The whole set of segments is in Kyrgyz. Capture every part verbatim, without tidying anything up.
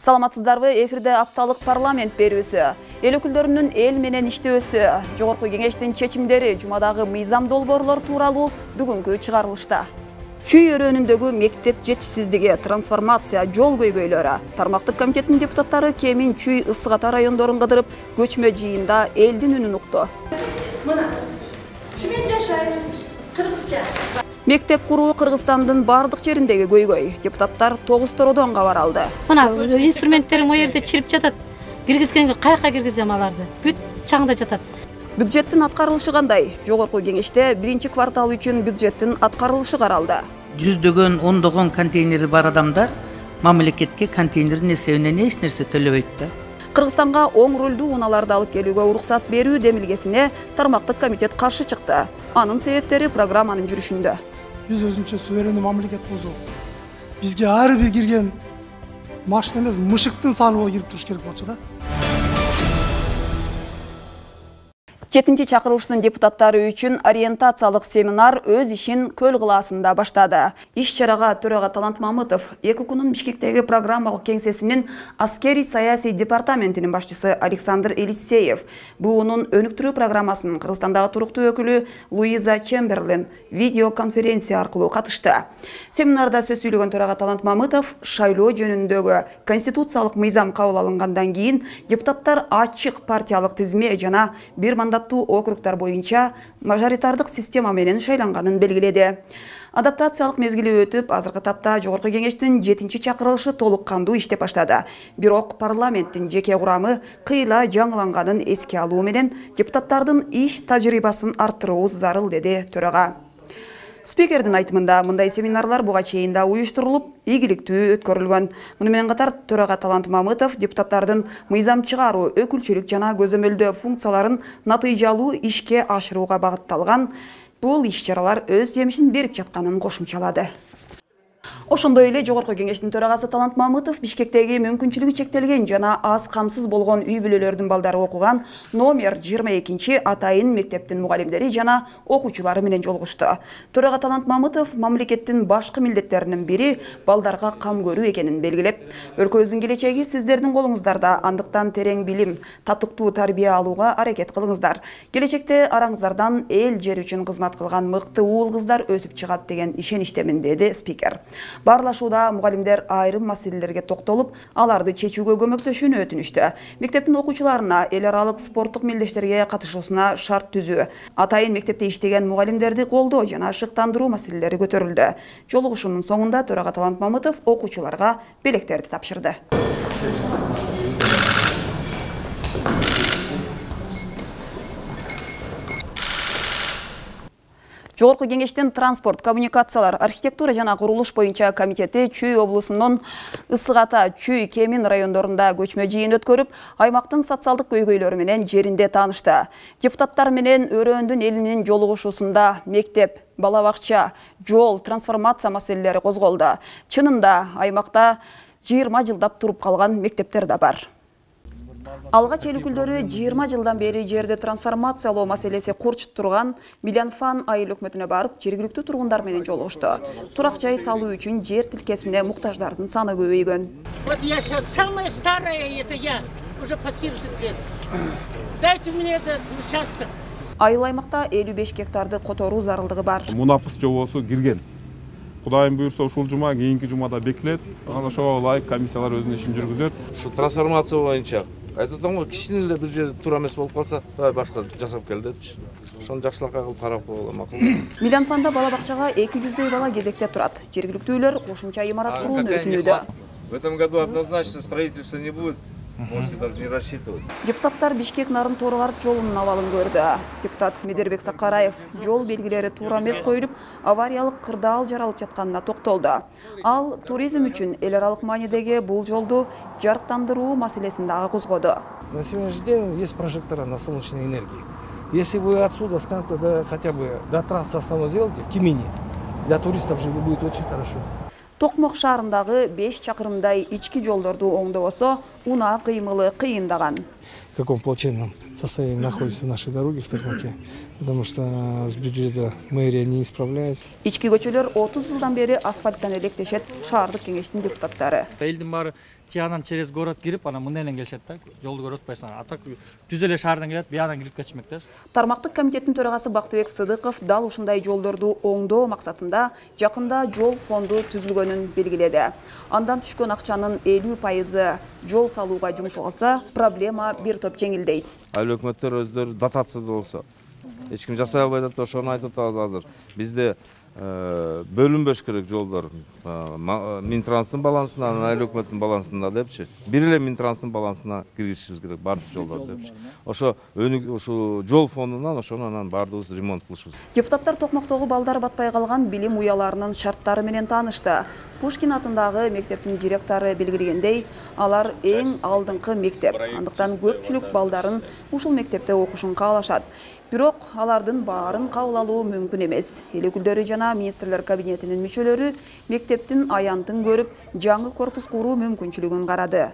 Саламатсыздарбы, эфирде апталык парламент берүүсү. Эл өкүлдөрүнүн эл менен иштөөсү, жогорку кеңештин чечимдери, жумадагы мыйзам долбоорлор тууралуу бүгүнкү чыгарылышта. Чүй өрөөнүндөгү мектеп жетишсиздиги, трансформация, жол көйгөйлөрү. Тармактык комитеттин депутаттары Кемин, Чүй, Ысык Ата райондорун кыдырып, көчмө жыйында элдин үнүн укту. Мына, шумен жашайбыз, кыргызча. Мектеп куруу Кыргызстандын бардык жериндеги көйгөй. Депутаттар тогуз тородон кабар алды. Мына инструменттерим о жерде чирип жатат. Киргизгенге каяка киргизем аларды? Бүт чаңда жатат. Бюджеттин аткарылышы кандай? Жогорку кеңеште биринчи квартал үчүн бюджеттин аткарылышы каралды. Жүздөгөн, ондогон контейнери бар адамдар мамлекетке контейнердин эсебинен эч нерсе төлөбөйт да. Кыргызстанга оң рөлдүү унааларды алып келүүгө уруксат берүү демилгесине тармактык комитет каршы чыкты. Анын себептери программанын жүрүшүндө. Биз өзүнчө суверендүү мамлекет болсок, бизге ар бир кирген машина эмес, мышыктын саны болуп кирип туруш керек болчу да. Жетинчи чакырылыштын депутаттары үчүн ориентациялык семинар өз ишин Көл кылаасында баштады. Иш-чарага төрага Талант Мамытов, ЭКУКунун Бишкектеги программалык кеңсесинин аскери саясий департаментинин башчысы Александр Елисеев, буунун өнүктүрүү программасынын Кыргызстандагы туруктуу өкүлү Луиза Чемберлен видеоконференция аркылуу катышты. Семинарда сөз сүйлөгөн төрага Талант Мамытов шайлоо жөнүндөгү конституциялык мыйзам кабыл алынгандан кийин депутаттар ачык партиялык тизме жана бир мандат округдар боюнча мажоритардык система менен шайланганын белгиледи. Адаптациялык мезгили өтүп, азыркы тапта жогорку кеңештин жетинчи чакырылышы толук кандуу иштеп баштады. Бирок парламенттин жеке курамы кыйла жаңыланганын эске алуу менен депутаттардын иш тажрыйбасын арттыруу зарыл, деди төрага. Спикердин айтымында мындай семинарлар буга чейин да уюштурулуп, ийгиликтүү өткөрүлгөн. Муну менен катар төрага Талант Мамытов депутаттардын мыйзам чыгаруу, өкүлчүлүк жана көзөмөлдөө функцияларын натыйжалуу ишке ашырууга багытталган бул иш-чаралар өз жемишин берип жатканын кошумчалады. Ошондой эле жогорку кеңештин төрагасы Талант Мамытов Бишкектеги мүмкүнчүлүгү чектелген жана аз камсыз болгон үй бүлөлөрдүн балдары окуган номер жыйырма экинчи атайын мектептин мугалимдери жана окуучулары менен жолугушту. Төрага Талант Мамытов мамлекеттин башкы милдеттеринин бири балдарга кам көрүү экенин белгилеп, өлкөбүздүн келечеги сиздердин колуңуздарда, андыктан терең билим, татыктуу тарбия алууга аракет кылыңыздар. Келечекте араңыздардан эл жер үчүн кызмат кылган мыкты уул кыздар өсүп чыгат деген ишеничтемин, деди спикер. Барлашууда мугалимдер айрым маселелерге токтолуп, аларды чечүүгө көмөктөшүүнү өтүнүштү. Мектептин окуучуларына эл аралык спорттук мелдештерге катышуусуна шарт түзүү, атайын мектепте иштеген мугалимдерди колдоо жана шыктандыруу маселелери көтөрүлдү. Жолугушуунун соңунда төрага Талант Мамытов окуучуларга белектерди тапшырды. Жогорку кеңештин транспорт, коммуникациялар, архитектура жана курулуш боюнча комитети Чүй облусунун Ысык Ата, Чүй, Кемин райондорунда көчмө жыйын өткөрүп, аймактын социалдык көйгөйлөрү менен жеринде таанышты. Депутаттар менен өрөөндүн элинин жолугушуусунда мектеп, бала бакча, жол, трансформация маселелери козголду. Чынында аймакта жыйырма жылдап туруп калган мектептер да бар. Алгач эл өкүлдөрү жыйырма жылдан бери жерди трансформациялоо маселеси курчуп турган Милянфан айыл өкмөтүнө барып, жергиликтүү тургундар менен жолугушту. Турак жай салуу үчүн жер тилкесине муктаждардын саны көбөйгөн. Вот я сейчас самая старая, это я, уже по семьдесят лет. Дайте мне этот участок. Айыл аймакта элүү беш гектарды которуу зарылдыгы бар. Мунафыс жобосу кирген. Кудайым буйрса ушул жума, кийинки жумада бекилет. Анан ошого ылайык комиссиялар өзүнүн ишин жүргүзөт. Ушу трансформация боюнча айтып атам го, кичине эле бир жер туура эмес болуп калса, башка жасап кел депчи. Ошону жакшылыкка кылып карап койгон макул. Милянфанда бала бакчага эки жүздөй бала кезекте турат. Жергиликтүүлөр кошумча имарат курууну өтүнүүдө. В этом году однозначно строительства не будет. Можете даже не рассчитывать. Депутаттар Бишкек Нарын Торгарт жолунун абалын көрдү. Депутат Медербек Сакараев жол белгилери туура эмес коюлуп, авариялык кырдаал жаралып жатканына токтолду. Ал туризм үчүн эл аралык маанидеги бул жолду жарыктандыруу маселесин дагы козгоду. На сегодняшний день есть прожектора на солнечной энергии. Если вы отсюда с канта до, хотя бы до трассы основной сделаете в Кемине, для туристов же будет очень хорошо. Токмок шаарындагы беш чакырымдай ички жолдорду оңдобосо, унаа кыймылы кыйындаган. В каком плачевном состоянии находятся наши дороги в Токмаке, потому что с бюджета мэрия не исправляется. Ички көчөлөр отуз жылдан бери асфальттан электешет, шаардык кеңештин депутаттары. Элдин баары тиянан через город кирип, анан мындайдан келишет да, жолду көрүп атпайсың. А так түз эле шаардан келет, биядан кирип кетишмек да. Тармактык комитеттин төрагасы Бактыбек Сыдыков дал ушундай жолдорду оңдоо максатында жакында жол фонду түзүлгөнүн белгиледи. Андан түшкөн акчанын элүү пайызы жол салууга жумшалса, проблема бир топ жеңилдейт. Айыл өкмөттөр өздөрү дотация болсо, эч ким жасай албай атат, ошону айтып атабыз азыр. Бизде бөлүнбөш керек жолдор. Минтранстын балансына, айыл өкмөттүн балансына депчи. Бир эле Минтранстын балансына киргизишибиз керек бардык жолдор депчи. Ошо ошо жол фондунан ошону анан бардыгыбыз ремонт кылышыбыз. Депутаттар Токмактогу балдар батпай калган билим уяларынын шарттары менен таанышты. Пушкин атындагы мектептин директору белгилегендей, алар эң алдыңкы мектеп. Андыктан көпчүлүк балдарын ушул мектепте окушун каалашат. Бирок алардын баарын кабыл алуу мүмкүн эмес. Эл өкүлдөрү жана министрлер кабинетинин мүчөлөрү мектептин аянтын көрүп, жаңы корпус куруу мүмкүнчүлүгүн карады.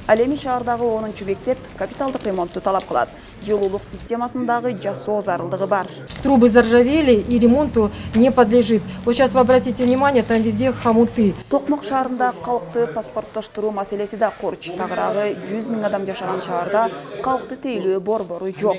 Ал эми шаардагы онунчу мектеп капиталдык ремонтту талап кылат. Жылуулук системасындагы жасоо зарылдыгы бар. Трубы заржавели и ремонту не подлежит. Вот сейчас вы обратите внимание, там везде хомуты. Токмак шаарында калкты паспорттоштуруу маселеси да корч. Тагыраагы жүз миң адам жашаган шаарда калкты тейлөө борбору жок.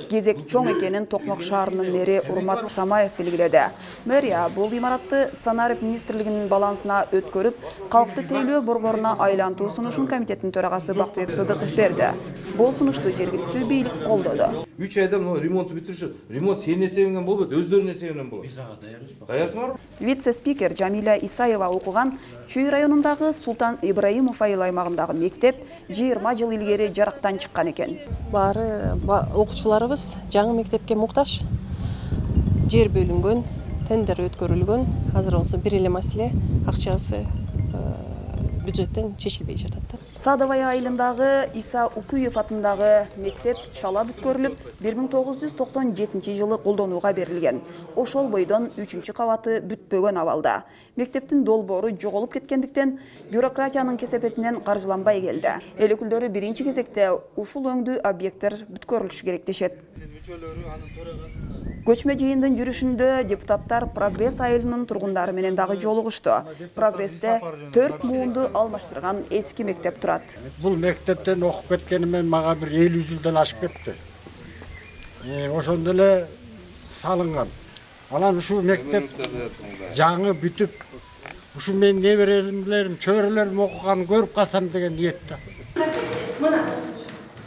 Кезек чоң экенин Токмак шаарынын мэри Урмат Самаев белгиледи. Мэрия бул имаратты санарип министрлигинин балансына өткөрүп, калкты тейлөө борборуна айлантуу сунушун комитеттин төрагасы Бактыбек Сыдыков берди. Бул сунушту жергиликтүү бийлик колдоду. үч айда ремонт бүтүрүшөт. Ремонт сенин эсебиңен болбойт, өздөрүнүн эсебинен болот. Биз ага даярбызбы? Даярсыңарбы? Вице-спикер Жамиля Исаева окуган Чүй районундагы Султан Ибраимов айыл аймагындагы мектеп жыйырма жыл илгери жарактан чыккан экен. Баары окуучуларыбыз жаңы мектепке муктаж. Жер бөлүнгөн, тендер өткөрүлгөн. Азыр болсо бир эле маселе акчасы бюджеттен чечилбей жатат. Садовая айылындагы Иса Укуев атындагы мектеп чала бүткөрүлүп, бир миң тогуз жүз токсон жетинчи жылы колдонууга берилген. Ошол бойдон үчүнчү кабаты бүтпөгөн абалда. Мектептин долбоору жоголуп кеткендиктен бюрократиянын кесепетинен каржыланбай келди. Эл өкүлдөрү биринчи кезекте ушул өңдүү объекттер бүткөрүлүшү керек дешет. Көчмө жыйындын жүрүшүндө депутаттар Прогресс айылынын тургундары менен дагы жолугушту. Прогрессте төрт муунду алмаштырган эски мектеп турат. Бул мектептен окуп кеткенимен мага бир элүү жылдан ашып кетти. Ошондо эле салынган. Анан ушул мектеп жаңы бүтүп, ушу менин неберелерим, чөйрөлөрүм окуганын көрүп калсам деген ниетте. Мына,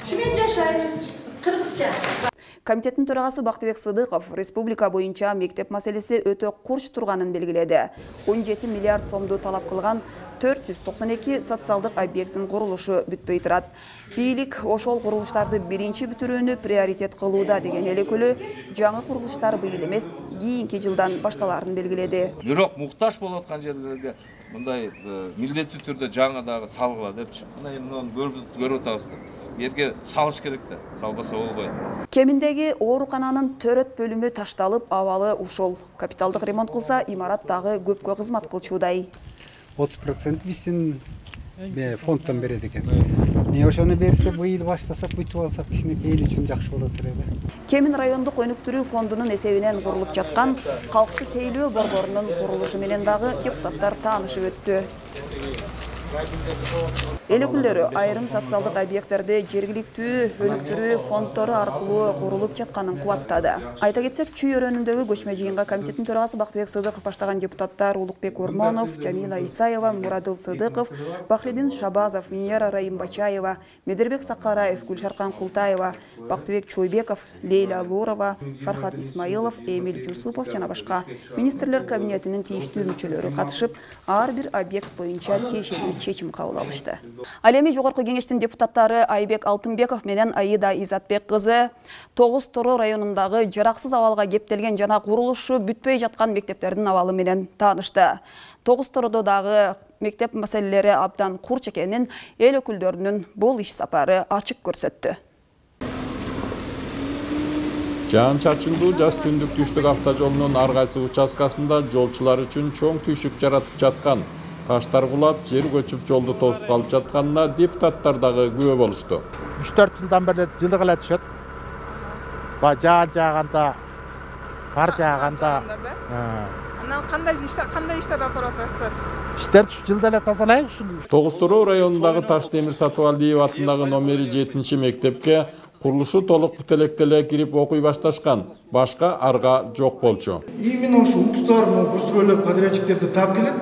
ушу менен жашайбыз, кыргызча. Комитеттин төрагасы Бактыбек Сыдыков республика боюнча мектеп маселеси өтө курч турганын белгиледи. он жети миллиард сомду талап кылган төрт жүз токсон эки социалдык объекттин курулушу бүтпөй турат. Бийлик ошол курулуштарды биринчи бүтүрүүнү приоритет кылууда деген эл өкүлү жаңы курулуштар быйыл эмес, кийинки жылдан башталарын белгиледи. Бирок муктаж болуп аткан жерлерге мындай милдеттүү түрдө жаңы дагы салгыла депчи. Мына эми көрүп атабыз. Жерге салыш керек да, салбаса болбойт. Кеминдеги оорукананын төрөт бөлүмү ташталып, абалы ушул. Капиталдык ремонт кылса, имарат дагы көпкө кызмат кылчудай. отуз процент биздин фонддон берет экен. Эмне ошону берсе, быйыл баштасак, бүтүп алсак, кичинекей эл үчүн жакшы болот эле. Кемин райондук өнүктүрүү фондунун эсебинен курулуп жаткан калкты тейлөө борборунун курулушу менен дагы депутаттар таанышып өттү. Эл өкүлдөрү айрым социалдык объекттерди жергиликтүү өнүктүрүү фонддору аркылуу курулуп жатканын кубаттады. Айта кетсек, Чүй өрөөнүндөгү көчмө жыйынга комитеттин төрагасы Бактыбек Сыдыков баштаган депутаттар Улукбек Ормонов, Жамила Исаева, Мурадыл Сыдыков, Бахридин Шабазов, Миньяра Раимбачаева, Медербек Сакараев, Гүлшаркан Култаева, Бактыбек Чойбеков, Лейла Лурова, Фархат Исмаилов, Эмиль Жусупов жана башка министрлер кабинетинин тийиштүү мүчөлөрү катышып, ар бир объект боюнча тиешелүү чечим кабыл алышты. Ал эми жогорку кеңештин депутаттары Айбек Алтынбеков менен Аида Изатбек кызы Тогуз Торо районундагы жараксыз абалга кептелген жана курулушу бүтпөй жаткан мектептердин абалы менен таанышты. Тогуз Тородо дагы мектеп маселелери абдан курч экенин эл өкүлдөрүнүн бул иш сапары ачык көрсөттү. Жаан чачындуу жаз түндүк түштүк автожолунун ар кайсы участкасында жолчулар үчүн чоң түйшүк жаратып жаткан таштар кулап, жер көчүп жолду тосуп калып жатканына депутаттар дагы күбө болушту. үч төрт жылдан бери жылдык эле түшөт. Баягы жаан жааганда, кар жааганда. Анан кандай иштер, кандай иштер алып барып атасыздар? Иштерди жылда эле тазалайбыз. Тогуз Тороо районундагы Таш Темир Сатыбалдиев атындагы номери жетинчи мектепке курулушу толук бүт электе эле кирип окуй башташкан. Башка арга жок болчу. Именно ошо укстар, постройлор, подрядчиктерди таап келет.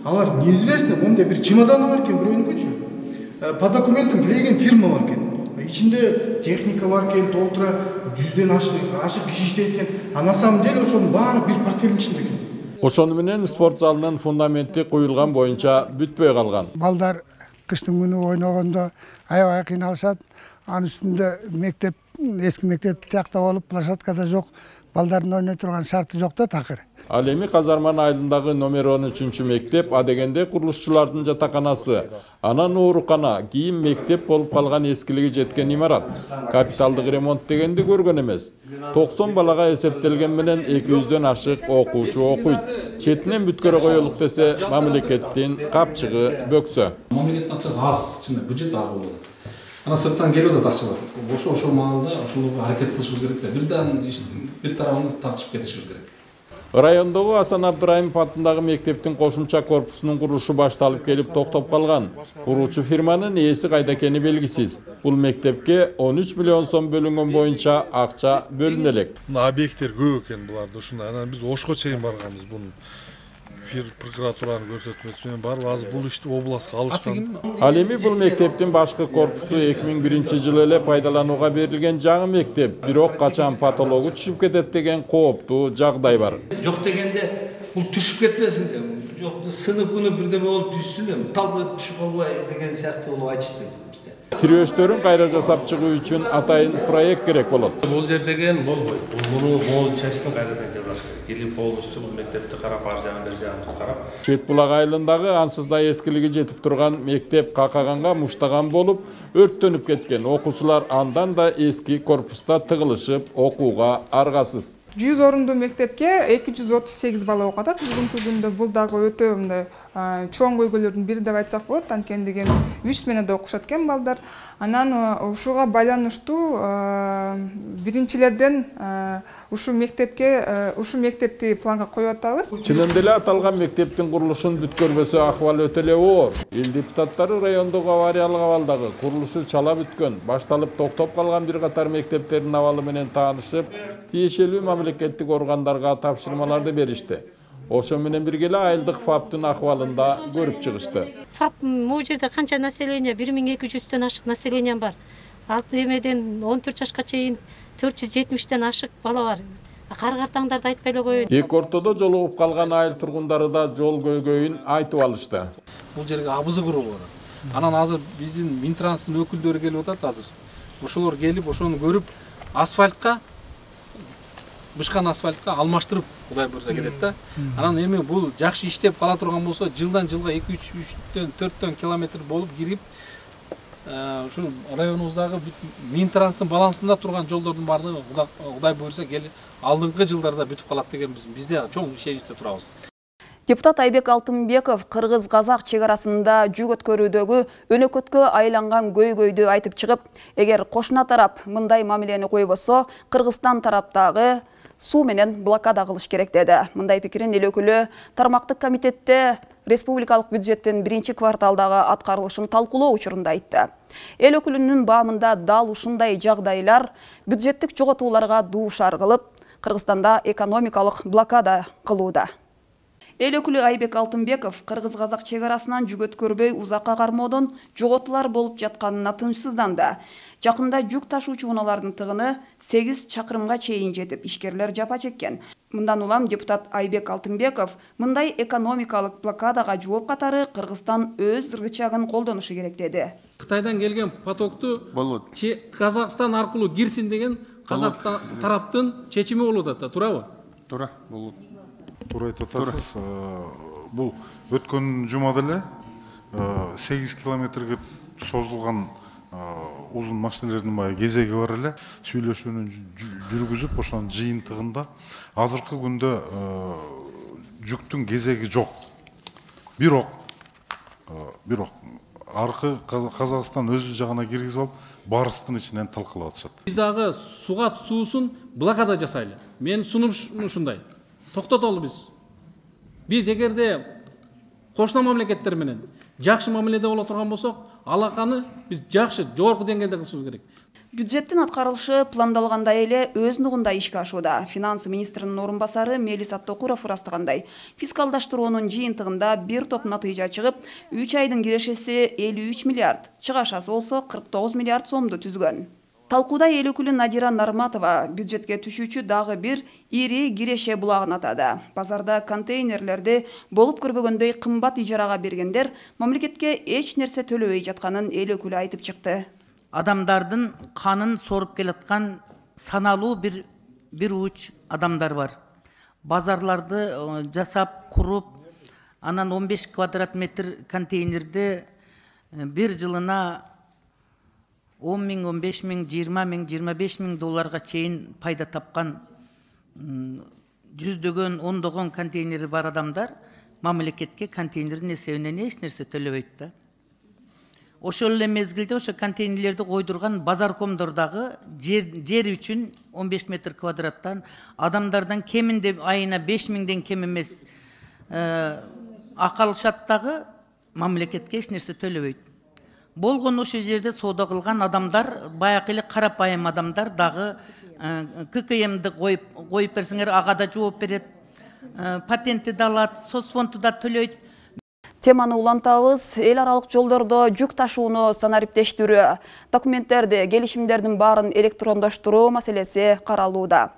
Алар неизвестно, мондай бир чемоданы бар экен бирөөнүкүчү. По документам билеген фирма бар экен. Ичинде техника бар экен, толтура жүздөн ашык киши иштейт экен. А на самом деле ошонун баары бир портфелдин ичинде экен. Ошону менен спорт залынын фундаменти куюлган боюнча бүтпөй калган. Балдар кыштын күнү ойногондо аябай кыйналышат. Анын үстүндө мектеп, эски мектеп тиякта болуп, площадкада жок. Балдардын ойной турган шарты жок да такыр. Ал эми Казарман айылындагы номер он үчүнчү мектеп адегенде курулушчулардын жатаканасы. Анан оорукана, кийин мектеп болуп калган эскилиги жеткен имарат. Капиталдык ремонт дегенди көргөн эмес. токсон балага эсептелген менен эки жүздөн ашык окуучу окуйт. Четинен бүткөрө коелук десе, мамлекеттин капчыгы бөксө. Мамлекеттин акчасы аз, чынында бюджет аз болот. Ана сырттан келип атат акчалар. Ошо ошол маалда ошолорго аракет кылышыбыз керек да. Бирден бир тарабын тартышып кетишибиз керек. Райондогу Асан Абдырайымов атындагы мектептин кошумча корпусунун курулушу башталып келип токтоп калган. Куруучу фирманын ээси кайда экени белгисиз. Бул мектепке он үч миллион сом бөлүнгөн боюнча акча бөлүнө элек. Объекттер көп экен буларда. Ушундай анан биз Ошко чейин барганбыз. Бунун прокуратуранын көрсөтмөсү менен барып азыр бул ишти областка алышкан. Ал эми бул мектептин башкы корпусу эки миң биринчи жылы эле пайдаланууга берилген жаңы мектеп. Бирок качан патологу түшүп кетет деген кооптуу жагдай бар. Жок дегенде бул түшүп кетпесин деп, жок сынып күнү бирдеме болуп түшсүн деп, талбай түшүп калбай деген сыяктуу болуп айтышты бизде. Тирөөчтөрүн кайра жасап чыгуу үчүн атайын проект керек болот. Бул жер деген болбойт. Муну мол частын кайрадан жасаш керек. Келип полностью бул мектепти карап, ар жагын бер жагын карап. Чет булак айылындагы ансыз да эскилиги жетип турган мектеп какаганга муштаган болуп, өрттөнүп кеткен. Окуучулар андан да эски корпуста тыгылышып окууга аргасыз. жүз орундуу мектепке эки жүз отуз сегиз бала окуп атат. Бүгүнкү күндө бул дагы өтө мындай чоң көйгөйлөрдүн бири деп айтсак болот. Анткени үч сменада окушат экен балдар. Анан ушуга байланыштуу биринчилерден ушул мектепке ушул мектепти планга коюп атабыз. Чынында эле аталган мектептин курулушун бүткөрбөсө акыбал өтө эле оор. Эл депутаттары райондогу авариялык абалдагы курулушу чала бүткөн, башталып токтоп калган бир катар мектептердин абалы менен таанышып, тиешелүү мамлекеттик органдарга тапшырмаларды беришти. Ошо менен бирге эле айылдык ФАПтын акыбалында көрүп чыгышты. ФАП могу жерде канча население, бир миң эки жүздөн ашык население бар. Ал эмеден он төрт жашка чейин төрт жүз жетимиштен ашык бала бар. Кар-картаңдарды айтпай эле коеюн. Эки ортодо жолугуп калган айыл тургундары да жол көйгөйүн айтып алышты. Бул жерге абызы курулуп атат. Анан азыр биздин Минтранстын өкүлдөрү келип атат азыр. Ошолор келип ошону көрүп асфальтка бышкан асфальтка алмаштырып Кудай буйрса кетет да. Анан эми бул жакшы иштеп кала турган болсо жылдан жылга эки үчтөн төрттөн километр болуп кирип ушу районубуздагы Минтранстын балансында турган жолдордун баардыгы Кудай буйрса келип алдыңкы жылдарда бүтүп калат деген бизде чоң ишеничте турабыз. Депутат Айбек Алтынбеков кыргыз-казак чек арасында жүк өткөрүүдөгү өнөкөткө айланган көйгөйдү айтып чыгып, эгер кошуна тарап мындай мамилени койбосо, Кыргызстан тараптагы суу менен блокада кылыш керек деди. Мындай пикирин эл өкүлү тармактык комитетте республикалык бюджеттин биринчи кварталдагы аткарылышын талкуулоо учурунда айтты. Эл өкүлүнүн баамында дал ушундай жагдайлар бюджеттик жоготууларга дуушар кылып, Кыргызстанда экономикалык блокада кылууда. Эл өкүлү Айбек Алтынбеков кыргыз-казак чек арасынан жүк өткөрбөй узакка кармоодон жоготуулар болуп жатканына тынчсызданды. Жакында жүк ташуучу унаалардын тыгыны сегиз чакырымга чейин жетип, ишкерлер жапа чеккен. Мындан улам депутат Айбек Алтынбеков мындай экономикалык блокадага жооп катары Кыргызстан өз рычагын колдонушу керек деди. Кытайдан келген потокту Казакстан аркылуу кирсин деген Казакстан тараптын чечими болуп атат, туурабы? Туура, болот. Туура айтып атасыз. Бул өткөн жумада эле сегиз километрге созулган узун машиналардын баягы кезеги бар эле. Сүйлөшүүнү жүргүзүп, ошонун жыйынтыгында азыркы күндө жүктүн кезеги жок. Бирок бирок аркы Казакстан өз жагына киргизип алып, барыстын ичинен талкалап атышат. Биз дагы суга суусун блокада жасайлы. Мен сунум ушундай. Токтотолу биз. Биз эгерде кошуна мамлекеттер менен жакшы мамиледе боло турган болсок, алаканы биз жакшы, жогорку деңгээлде кылышыбыз керек. Бюджеттин аткарылышы пландалгандай эле өз нугунда ишке ашууда. Финанс министринин орун басары Мелис Абтокуров ырастагандай, фискалдаштыруунун жыйынтыгында бир топ натыйжа чыгып, үч айдын кирешеси элүү үч миллиард, чыгашасы болсо кырк тогуз миллиард сомду түзгөн. Талкууда эл өкүлү Надира Нарматова бюджетке түшүүчү дагы бир ири киреше булагын атады. Базарда контейнерлерди болуп көрбөгөндөй кымбат ижарага бергендер мамлекетке эч нерсе төлөбөй жатканын эл өкүлү айтып чыкты. Адамдардын канын соруп келаткан саналуу бир бир уч адамдар бар. Базарларды жасап, куруп, анан он беш квадрат метр контейнерди бир жылына он миң, он беш миң, жыйырма миң, жыйырма беш миң долларга чейин пайда тапкан жүздөгөн, ондогон контейнери бар адамдар мамлекетке контейнердин эсебинен эч нерсе төлөбөйт да. Ошол эле мезгилде ошо контейнерлерди койдурган базаркомдор дагы жер үчүн он беш метр квадраттан адамдардан кеминде айына беш миңден кем эмес акы алышат дагы мамлекетке эч нерсе төлөбөйт. Болгон ошо жерде соода кылган адамдар, баягы эле карапайым адамдар дагы ка ка эмди коюп коюп берсеңер ага да жооп берет, патентти да алат, соцфондду да төлөйт. Теманы улантабыз. Эл аралык жолдордо жүк ташууну санариптештирүү, документтерди, келишимдердин баарын электрондоштуруу маселеси каралууда.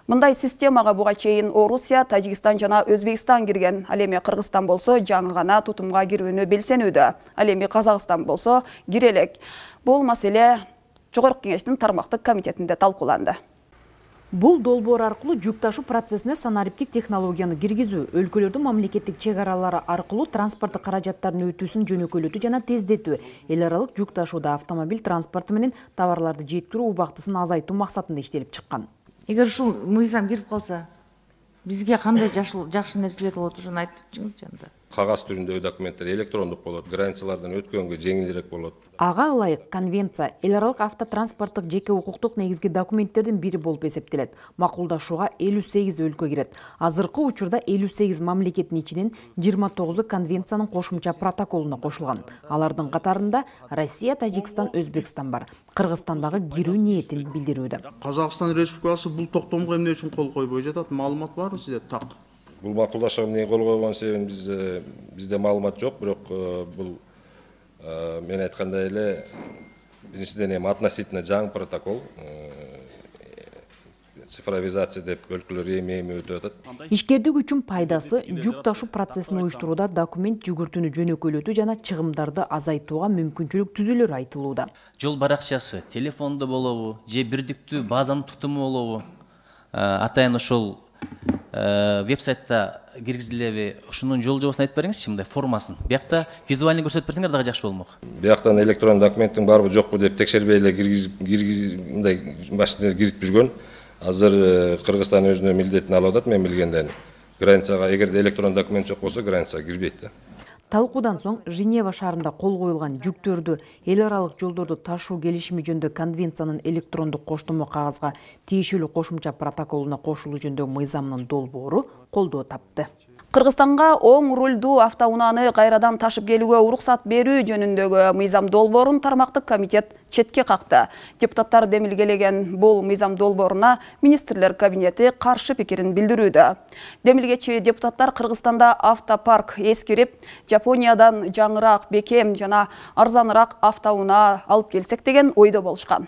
Мындай системага буга чейин Орусия, Тажикстан жана Өзбекстан кирген. Ал эми Кыргызстан болсо жаңы гана тутумга кирүүнү белсенүүдө. Ал эми Казакстан болсо кире элек. Бул маселе Жогорку Кеңештин тармактык комитетинде талкууланды. Бул долбоор аркылуу жүк ташуу процессине санариптик технологияны киргизүү, өлкөлөрдүн мамлекеттик чек аралары аркылуу транспорттук каражаттардын өтүүсүн жөнөкөйлөтүү жана тездетүү, эл аралык жүк ташууда автомобиль транспорту менен товарларды жеткирүү убактысын азайтуу максатында иштелип чыккан. Эгер ушул мыйзам кирип калса, бизге кандай жакшы нерселер болот, ошону айтып кетчиңизчи анда. Кагаз түрүндөгү документтер электрондук болот, границалардан өткөнгө жеңилирээк болот. Ага ылайык конвенция эл аралык автотранспорттук жеке укуктук негизги документтердин бири болуп эсептелет. Макулдашууга элүү сегиз өлкө кирет. Азыркы учурда элүү сегиз мамлекеттин ичинен жыйырма тогузу конвенциянын кошумча протоколуна кошулган. Алардын катарында Россия, Тажикстан, Өзбекстан бар. Кыргызстан дагы кирүү ниетин билдирүүдө. Казакстан Республикасы бул токтомго эмне үчүн кол койбой жатат? Маалымат барбы сизде? Так. Бул макулдашууга эмне кол койгон себебин бизде маалымат жок, бирок бул мен айткандай эле биринчиден эми относительно жаңы протокол, цифровизация деп өлкөлөр эми-эми өтүп атат. Ишкердик үчүн пайдасы жүк ташуу процессин уюштурууда документ жүгүртүүнү жөнөкөйлөтүү жана чыгымдарды азайтууга мүмкүнчүлүк түзүлөр айтылууда. Жол баракчасы телефондо болобу, же бирдиктүү базанын тутуму болобу, атайын ошол веб-сайтта киргизилеби, ушунун жол жобосун айтып бериңизчи, мындай формасын. Биякта визуальный көрсөтүп берсеңер дагы жакшы болмок. Бияктан электрон документтин барбы жокпу деп текшербей эле киргизип киргизип мындай машина кирип жүргөн. Азыр Кыргызстан өзүнүн милдетин алып атат, мен билгенден. Границага эгерде электрон документ жок болсо, границага кирбейт да. Талкуудан соң Женева шаарында кол коюлган жүктөрдү эл аралык жолдорду ташуу келишими жөнүндө конвенциянын электрондук коштомо кагазга тиешелүү кошумча протоколуна кошулуу жөнүндө мыйзамынын долбоору колдоо тапты. Кыргызстанга оң рулдуу автоунааны кайрадан ташып келүүгө уруксат берүү жөнүндөгү мыйзам долбоорун тармактык комитет четке какты. Депутаттар демилгелеген бул мыйзам долбооруна министрлер кабинети каршы пикирин билдирүүдө. Демилгечи депутаттар Кыргызстанда автопарк эскирип, Жапониядан жаңыраак, бекем жана арзаныраак автоунаа алып келсек деген ойдо болушкан.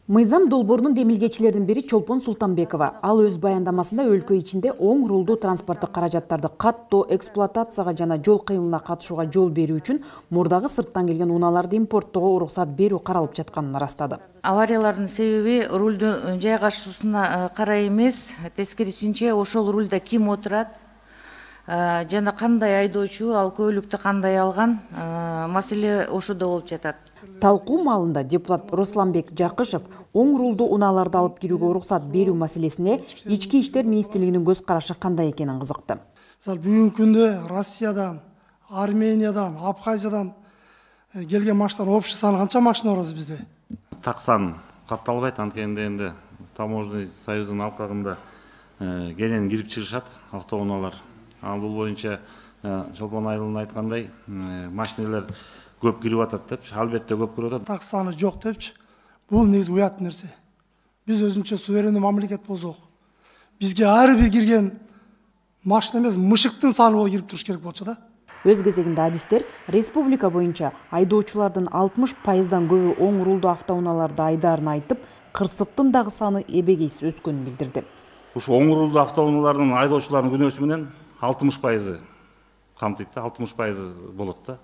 Мыйзам долбоорунун демилгечилердин бири Чолпон Султанбекова. Ал өз баяндамасында өлкө ичинде оң рулдуу транспорттук каражаттарды каттоо, эксплуатацияга жана жол кыймылына катышууга жол берүү үчүн мурдагы сырттан келген унааларды импорттоого уруксат берүү каралып жатканын ырастады. Авариялардын себеби рулдун жайгашуусуна карай эмес, тескерисинче ошол рулда ким отурат, жана кандай айдоочу ал көлүктү кандай алган, маселе ошодо болуп жатат. Талкуу маалында депутат Русланбек Жакышев оң рулдуу унааларды алып кирүүгө уруксат берүү маселесине Ички иштер министрлигинин көз карашы кандай экенин кызыкты. Бүгүнкү күндө Россиядан Армениядан, Абхазиядан келген машиналар общий саны канча машина бар бизде? Так сан катталбайт, анткенде энди таможенный союздун алкагында кенен кирип чыгышат автоунаалар. Ал бул боюнча Чолпон Айылдын айткандай машиналар көп кирип атат деп, албетте көп кирип атат. Так саны жок депчи. Бул негизи уят нерсе. Биз өзүнчө суверенный мамлекет болсок, бизге ар бир кирген машина эмес, мышыктын саны болуп кирип туруш керек болчу да. Өз кезегинде адистер республика боюнча айдоочулардын алтымыш пайыздан көбү оң рулдуу автоунааларда айдаарын айтып, кырсыктын дагы саны эбегейсиз өскөнүн билдирди. Ушу оң рулдуу автоунаалардын айдоочуларынын күнөөсү менен алтымыш пайызы камтыйт да, алтымыш пайызы болот да.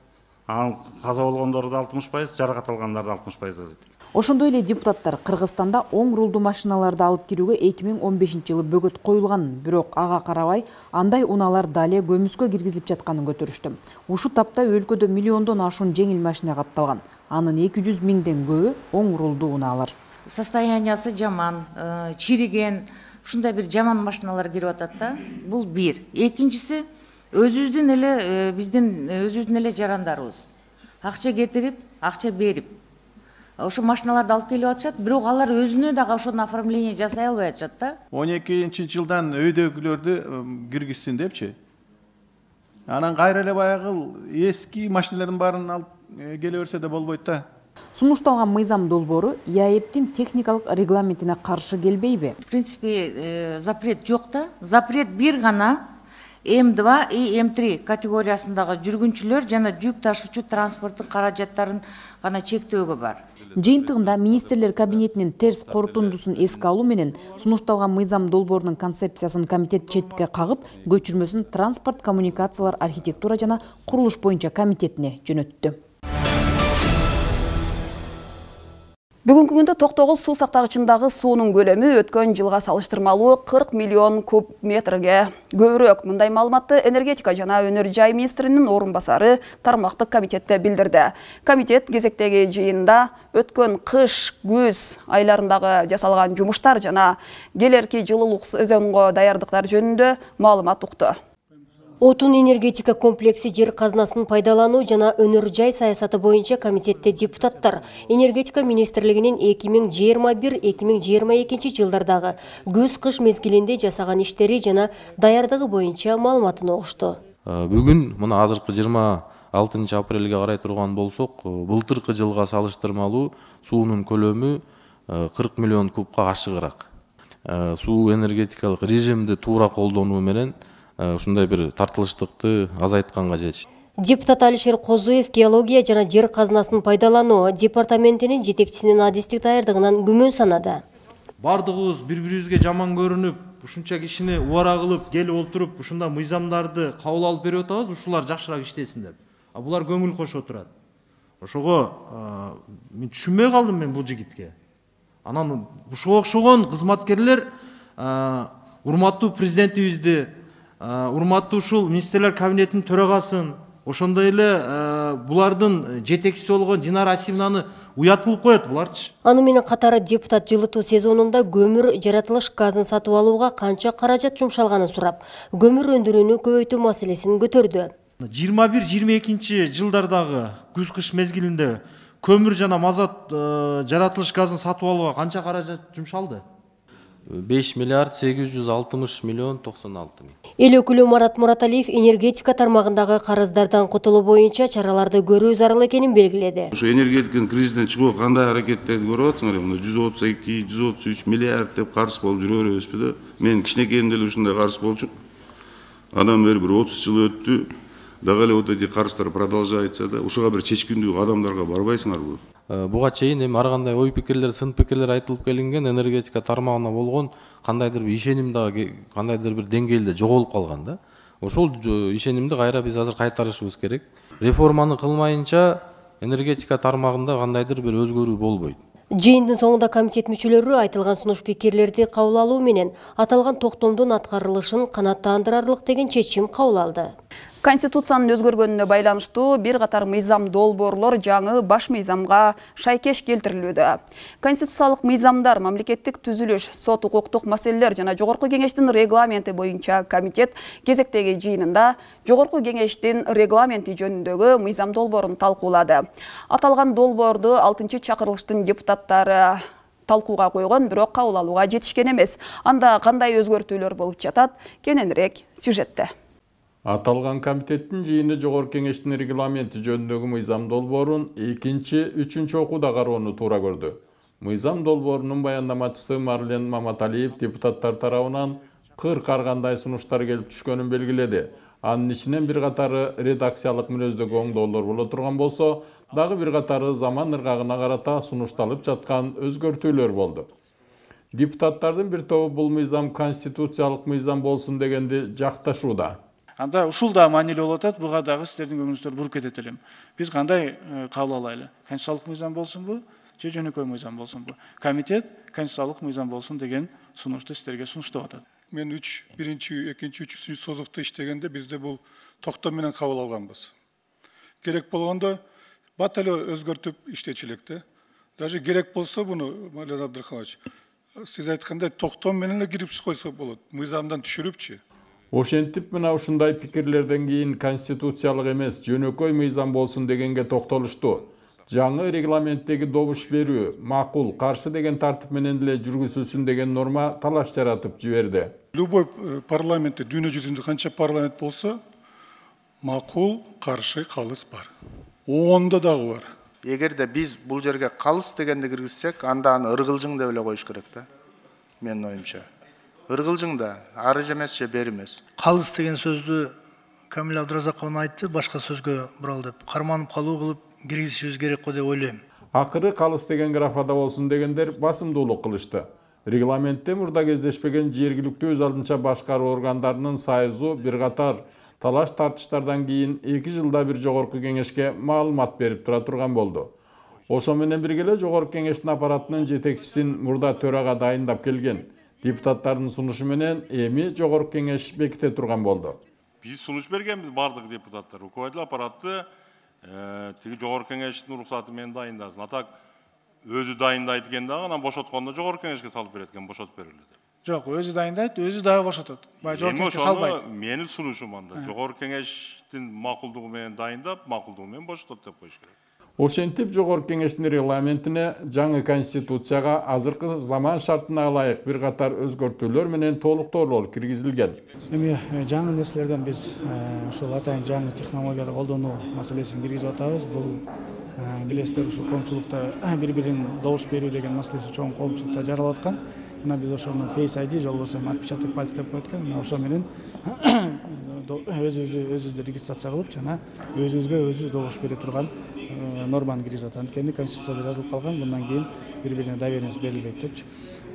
Анын каза болгондору да алтымыш пайыз, жаракат алгандар да алтымыш пайыз болот. Ошондой эле депутаттар Кыргызстанда оң рулдуу машиналарды алып кирүүгө эки миң он бешинчи жылы бөгөт коюлганын, бирок ага карабай андай унаалар дале көмүскө киргизилип жатканын көтөрүштү. Ушул тапта өлкөдө миллиондон ашуун жеңил машина катталган. Анын эки жүз миңден көбү оң рулдуу унаалар. Состояниясы жаман, чириген, ушундай бир жаман машиналар кирип атат да. Бул бир. Экинчиси, өзүбүздүн эле биздин өзүбүздүн эле жарандарыбыз. Акча кетирип, акча берип ошо машиналарды алып келип атышат, бирок алар өзүнө дагы ошону оформление жасай албай атышат да. он экинчи жылдан өйдөгүлөрдү киргизсин депчи. Анан кайра эле баягы эски машиналардын баарын алып келе берсе да болбойт да. Сунушталган мыйзам долбоору ЯЭПтин техникалык регламентине каршы келбейби? В принципе, запрет жок да. Запрет бир гана эм два и эм три категориясындагы жүргүнчүлөр жана жүк ташуучу транспорттун каражаттарын гана чектөөгө бар. Жыйынтыгында министрлер кабинетинин терс корутундусун эске алуу менен сунушталган мыйзам долбоорунун концепциясын комитет четке кагып, көчүрмөсүн транспорт, коммуникациялар, архитектура жана курулуш боюнча комитетине жөнөттү. Бүгүнкү күндө Токтогуз суу сактагычындагы суунун көлөмү өткөн жылга салыштырмалуу кырк миллион куб метрге көбүрөөк. Мындай маалыматты энергетика жана өнөр жай министринин орун басары тармактык комитетте билдирди. Комитет кезектеги жыйында өткөн кыш, күз айларындагы жасалган жумуштар жана келерки жылуулук сезонго даярдыктар жөнүндө маалымат укту. Отун энергетика комплекси жер казынасын пайдалануу жана өнөр жай саясаты боюнча комитетте депутаттар энергетика министрлигинин эки миң жыйырма бир — эки миң жыйырма экинчи жылдардагы күз-кыш мезгилинде жасаган иштери жана даярдыгы боюнча маалыматын угушту. Бүгүн мына азыркы жыйырма алтынчы апрелге карай турган болсок, былтыркы жылга салыштырмалуу суунун көлөмү кырк миллион кубка ашыгыраак. Суу энергетикалык режимди туура колдонуу менен ушундай бир тартылыштыкты азайтканга жетишти. Депутат Алишер Козуев геология жана жер казынасын пайдалануу департаментинин жетекчисинин адистик даярдыгынан күмөн санады. Бардыгыбыз бири-бирибизге жаман көрүнүп, ушунча кишини убара кылып, келип олтуруп, ушундай мыйзамдарды кабыл алып берип атабыз, ушулар жакшыраак иштесин деп. А булар көңүл кошо турат. Ошого мен түшүнбөй калдым мен бул жигитке. Анан ушуга окшогон кызматкерлер урматтуу президентибизди, урматтуу ушул министрлер кабинетинин төрагасын, ошондой эле булардын жетекчиси болгон Динара Асимовнаны уят кылып коет буларчы. Аны менен катары депутат жылытуу сезонунда көмүр жаратылыш газын сатып алууга канча каражат жумшалганын сурап, көмүр өндүрүүнү көбөйтүү маселесин көтөрдү. жыйырма бир — жыйырма экинчи жылдардагы күз-кыш мезгилинде көмүр жана мазут жаратылыш газын сатып алууга канча каражат жумшалды? беш миллиард сегиз жүз алтымыш миллион токсон алты миң. Эл өкүлү Марат Мураталиев энергетика тармагындагы карыздардан кутулуу боюнча чараларды көрүү зарыл экенин белгиледи. Ушу энергетиканын кризистен чыгуу кандай аракеттерди көрүп атсыңар, мына жүз отуз эки — жүз отуз үч миллиард деп карыз болуп жүрө беребизби да? Мен кичинекейимде эле ушундай карыз болчу. Андан бери бир отуз жыл өттү. Дагы эле вот эти карыздар продолжается да. Ушуга бир чечкиндүү кадамдарга барбайсыңарбы? Буга чейин эми ар кандай ой пикирлер, сын пикирлер айтылып келинген, энергетика тармагына болгон кандайдыр бир ишеним дагы кандайдыр бир деңгээлде жоголуп калган да. Ошол ишенимди кайра биз азыр кайтарышыбыз керек. Реформаны кылмайынча энергетика тармагында кандайдыр бир өзгөрүү болбойт. Жыйындын соңунда комитет мүчөлөрү айтылган сунуш пикирлерди кабыл алуу менен аталган токтомдун аткарылышын канааттандырарлык деген чечим кабыл алды. Конституциянын өзгөргөнүнө байланыштуу бир катар мыйзам долбоорлор жаңы баш мыйзамга шайкеш келтирилүүдө. Конституциялык мыйзамдар, мамлекеттик түзүлүш, сот укуктук маселелер жана Жогорку кеңештин регламенти боюнча комитет кезектеги жыйынында Жогорку кеңештин регламенти жөнүндөгү мыйзам долбоорун талкуулады. Аталган долбоорду алтынчы чакырылыштын депутаттары талкууга койгон, бирок кабыл алууга жетишкен эмес. Анда кандай өзгөртүүлөр болуп жатат? Кененирээк сюжетте. Аталган комитеттин жыйыны Жогорку кеңештин регламенти жөнүндөгү мыйзам долбоорун экинчи, үчүнчү окууда кароону туура көрдү. Мыйзам долбоорунун баяндамачысы Марлен Маматалиев депутаттар тарабынан кырк аргандай сунуштар келип түшкөнүн белгиледи. Анын ичинен бир катары редакциялык мүнөздөгү оңдоолор боло турган болсо, дагы бир катары заман ыргагына карата сунушталып жаткан өзгөртүүлөр болду. Депутаттардын бир тобу бул мыйзам конституциялык мыйзам болсун дегенди жакташууда. Анда ушул да маанилүү болуп атат, буга дагы сиздердин көңүлүңүздөр буруп кетет элем. Биз кандай кабыл алайлы? Конституциялык мыйзам болсунбу, же жөнөкөй мыйзам болсунбу? Комитет конституциялык мыйзам болсун деген сунушту сиздерге сунуштап атат. Мен үч, биринчи, экинчи, үчүнчү созовто иштегенде бизде бул токтом менен кабыл алганбыз. Керек болгондо бат эле өзгөртүп иштечилекте. Даже керек болсо буну, Мален Абдрахманович, сиз айткандай токтом менен эле кирип койсо болот, мыйзамдан түшүрүпчү. Ошентип мына ушундай пикирлерден кийин конституциялык эмес, жөнөкөй мыйзам болсун дегенге токтолушту. Жаңы регламенттеги добуш берүү, макул, каршы деген тартип менен эле жүргүзүлсүн деген норма талаш жаратып жиберди. Любой парламентте, дүйнө жүзүндө канча парламент болсо, макул, каршы, калыс бар. Онда дагы бар. Эгерде биз бул жерге калыс дегенди киргизсек, анда аны ыргылжың деп эле коюш керек да. Менин оюмча. Ыргылжың да, ары эмес же бери эмес. Калыс деген сөздү Камил Абдразаков айтты, башка сөзгө бурал деп карманып калуу кылып киргизишибиз керек го деп ойлойм. Акыры калыс деген графада болсун дегендер басымдуулук кылышты. Регламентте мурда кездешпеген жергиликтүү өз алдынча башкаруу органдарынын союзу бир катар талаш тартыштардан кийин эки жылда бир Жогорку кеңешке маалымат берип тура турган болду. Ошо менен бирге эле Жогорку кеңештин аппаратынын жетекчисин мурда төрага дайындап келген. Депутаттардын сунушу менен эми Жогорку кеңеш беките турган болду. Биз сунуш бергенбиз бардык депутаттар. Руководитель аппараты тиги Жогорку кеңештин уруксаты менен дайындасын. Атак өзү дайындайт экен дагы, анан бошоткондо Жогорку кеңешке салып берет экен, бошотуп берилет. Жок, өзү дайындайт, өзү дагы бошотот. Бай Жогорку кеңешке салбайт. Менин сунушум анда. Жогорку кеңештин макулдугу менен дайындап, макулдугу менен бошотот деп коюш керек. Ошентип Жогорку кеңештин регламентине жаңы конституцияга азыркы заман шартына ылайык бир катар өзгөртүүлөр менен толуктоолор киргизилген. Эми жаңы нерселерден биз ушул атайын жаңы технологияларды колдонуу маселесин киргизип атабыз. Бул билесиздер ушул коомчулукта бири-бирин добуш берүү деген маселеси чоң коомчулукта жаралып аткан. Мына биз ошону Face ай ди же болбосо отпечаток пальца деп коет экен. Мына ошо менен өзүбүздү өзүбүздү регистрация кылып жана өзүбүзгө өзүбүз добуш бере турган норманы киргизип атат. Анткени конституцияда жазылып калган, bundan кийин бири-бирине доверенность берилбейт депчи.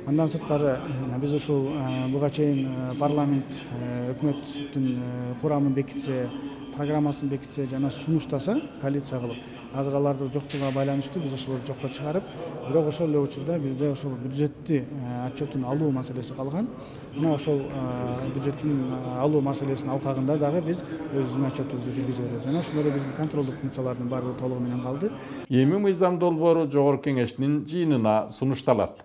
Андан сырткары биз ушул буга чейин парламент өкмөттүн курамын бекитсе, программасын бекитсе жана сунуштаса коалиция кылып, азыр аларды жоктугуна байланыштуу биз ошолорду жокко чыгарып, бирок ошол эле учурда бизде ошол бюджетти отчетун алуу маселеси калган. Мына ошол бюджеттин алуу маселесинин алкагында дагы биз өзүбүздүн отчетубузду жүргүзө беребиз. Жана ошол эле биздин контролдук функциялардын баардыгы толугу менен калды. Эми мыйзам долбоору Жогорку кеңештин жыйынына сунушталат.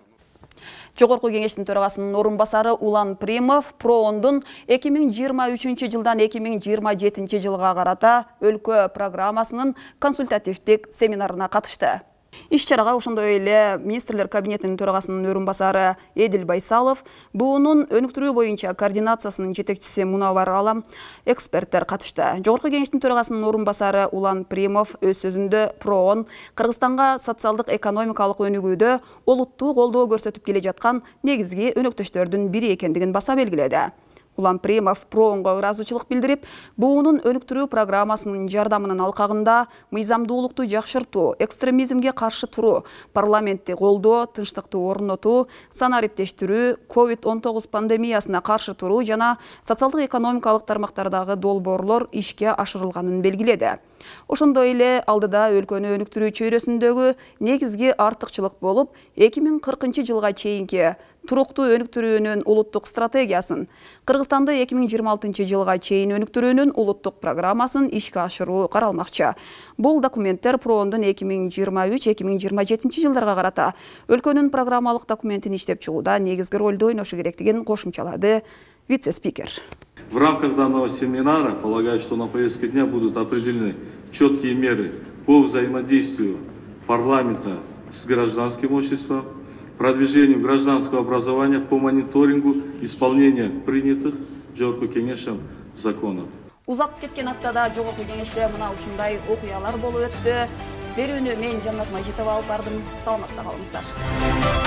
Жогорку кеңештин төрагасынын орун басары Улан Примов ПРООНдун эки миң жыйырма үчүнчү жылдан эки миң жыйырма жетинчи жылга карата өлкө программасынын консультативдик семинарына катышты. Иш-чарага ошондой эле министрлер кабинетинин төрагасынын орун басары Эдил Байсалов, буунун өнүктүрүү боюнча координациясынын жетекчиси Мунавар Алам, эксперттер катышты. Жогорку кеңештин төрагасынын орун басары Улан Примов өз сөзүндө ПРООН Кыргызстанга социалдык экономикалык өнүгүүдө олуттуу колдоо көрсөтүп келе жаткан негизги өнөктөштөрдүн бири экендигин баса белгиледи. Улан Примов ПРООНго ыраазычылык билдирип, буунун өнүктүрүү программасынын жардамынын алкагында мыйзамдуулукту жакшыртуу, экстремизмге каршы туруу, парламентти колдоо, тынчтыкты орнотуу, санариптештирүү, ковид он тогуз пандемиясына каршы туруу жана социалдык экономикалык тармактардагы долбоорлор ишке ашырылганын белгиледи. Ошондой эле алдыда өлкөнү өнүктүрүү чөйрөсүндөгү негизги артыкчылык болуп, эки миң кыркынчы жылга чейинки туруктуу өнүктүрүүнүн улуттук стратегиясын, Кыргызстанды эки миң жыйырма алтынчы жылга чейин өнүктүрүүнүн улуттук программасын ишке ашыруу каралмакчы. Бул документтер Проондун эки миң жыйырма үч эки миң жыйырма жетинчи жылдарга карата өлкөнүн программалык документин иштеп чыгууда негизги ролду ойношу керектигин кошумчалады вице-спикер. В рамках данного семинара полагаю, что на повестке дня будут определены четкие меры по взаимодействию парламента с гражданским обществом, продвижению гражданского образования, по мониторингу исполнения принятых Жогорку кеңешем законов. Узап кеткен аптада Жогорку кеңеште мына ушундай окуялар болуп өттү. Берүүнү мен Жаннат Мажитова алып бардым. Саламатта калыңыздар.